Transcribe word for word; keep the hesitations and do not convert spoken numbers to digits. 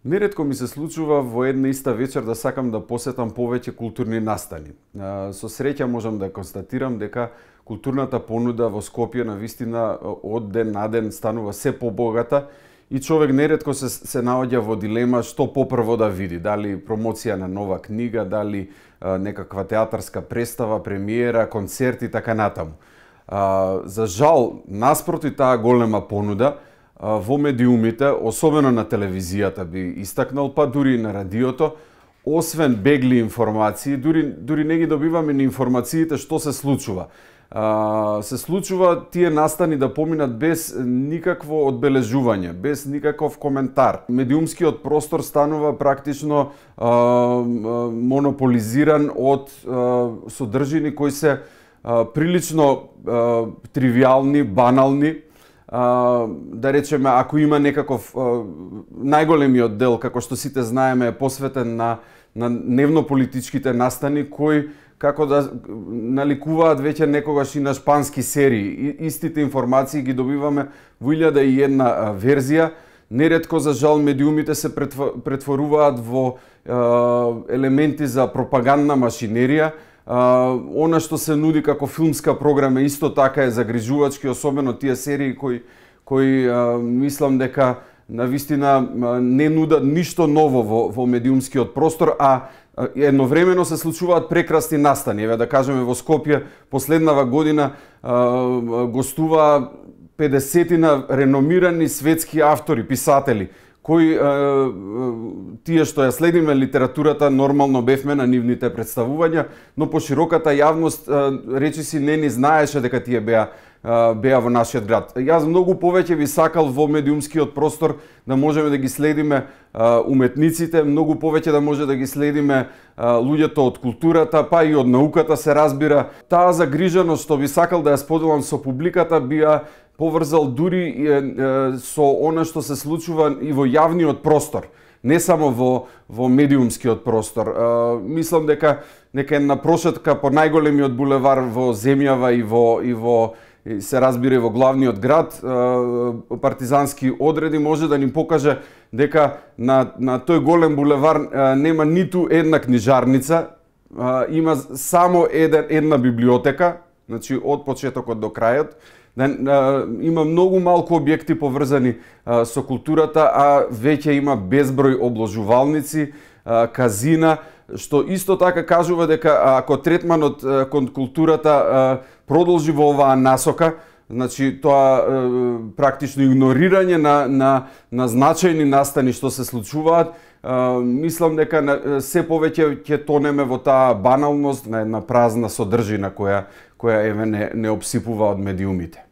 Неретко ми се случува во една иста вечер да сакам да посетам повеќе културни настани. Со среќа можам да констатирам дека културната понуда во Скопје навистина од ден на ден станува се побогата и човек неретко се, се наоѓа во дилема што попрво да види, дали промоција на нова книга, дали а, некаква театарска представа, премиера, концерт и така натаму. А, за жал, наспроти таа голема понуда, во медиумите, особено на телевизијата би истакнал, па дури и на радиото, освен бегли информации, дури, дури не ги добиваме ни информациите што се случува. А, се случува тие настани да поминат без никакво одбележување, без никаков коментар. Медиумскиот простор станува практично а, монополизиран од а, содржини кои се а, прилично а, тривијални, банални. Uh, да речеме, ако има некаков uh, најголемиот дел, како што сите знаеме, е посветен на, на дневно-политичките настани, кои како да наликуваат веќе некогаш и на шпански серии. И, истите информации ги добиваме во илјада и една uh, верзија. Неретко, за жал, медиумите се претворуваат во uh, елементи за пропагандна машинерија. Uh, она што се нуди како филмска програма исто така е загрижувачки, особено тие серии кои кои uh, мислам дека навистина uh, не нудат ништо ново во, во медиумскиот простор, а uh, едновремено се случуваат прекрасни настани. Еве да кажеме, во Скопје последнава година uh, гостува педесетина реномирани светски автори, писатели, кои е, тие што ја следиме литературата нормално бевме на нивните представувања, но по широката јавност е, речиси не ни знаеше дека тие беа е, беа во нашиот град. Јас многу повеќе би сакал во медиумскиот простор да можеме да ги следиме е, уметниците, многу повеќе да може да ги следиме е, луѓето од културата, па и од науката се разбира. Таа загриженост што би сакал да ја споделам со публиката би ја поврзал дури е, е, со она што се случува и во јавниот простор, не само во, во медиумскиот простор. Е, мислам дека нека една прошетка по најголемиот булевар во земјава и во, и во и се разбира и во главниот град, е, партизански одреди може да ни покаже дека на, на тој голем булевар е, нема ниту една книжарница, е, има само еден, една библиотека, значи од почетокот до крајот. Да, а, има многу малку објекти поврзани а, со културата, а веќе има безброј обложувалници, а, казина, што исто така кажува дека ако третманот а, кон културата а, продолжи во оваа насока, значи тоа а, практично игнорирање на, на, на значајни настани што се случуваат, а, мислам дека на, се повеќе ќе тонеме во таа баналност на една празна содржина која која еве не, не обсипува од медиумите.